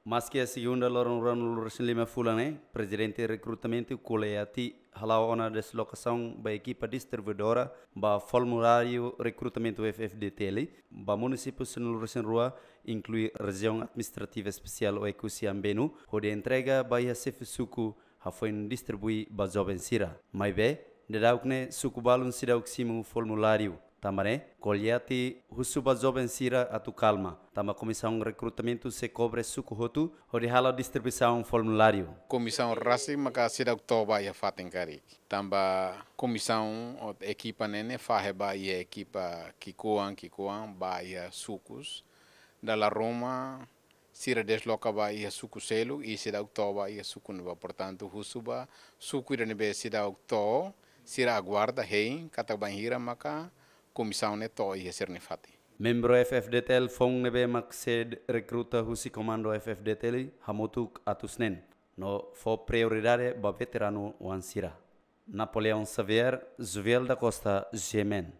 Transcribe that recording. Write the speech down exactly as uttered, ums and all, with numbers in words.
Maski iha segunda loron ruanulu-resin-lima fulan ne'e, Prezidente Rekrutamentu ko'alia atu hala'o ona deslokasaun ba ekipa distribuidora ba formuláriu rekrutamentu F F D T L ba munisípiu sanulu-resin-rua, inklui Rejiaun Administrativa Espesiál Oekusi Ambenu, hodi entrega ba iha xefe suku, hafoin distribui ba joven sira. Maibé, daudaun ne'e suku balun seidauk simu formuláriu. Tanba ne'e, ko'alia atu husu ba joven sira atu kalma, tanba Komisaun Rekrutamentu sei kobre suku hotu hodi hala'o distribuisaun formuláriu. Komisaun rasik maka seidauk to'o ba iha fatin karik. Tanba komisaun ou ekipa ne'e ne'e fahe ba iha ekipa ki'ikoan, ki'ikoan ba iha sukus. Dala ruma sira desloka ba iha suku seluk i seidauk to'o ba iha suku ne'ebá. Portantu, husu ba suku ida ne'ebé seidauk to'o, sira aguarda hein katak bainhira maka komisaun ne'e to'o iha sira-nia fatin. Membru F F D T L foun ne'ebé mak sei rekruta husi Komandu F F D T L hamutuk atus neen, no fó prioridade ba veteranu oan sira. Napoleão Xavier, Joviel da Costa, G M N.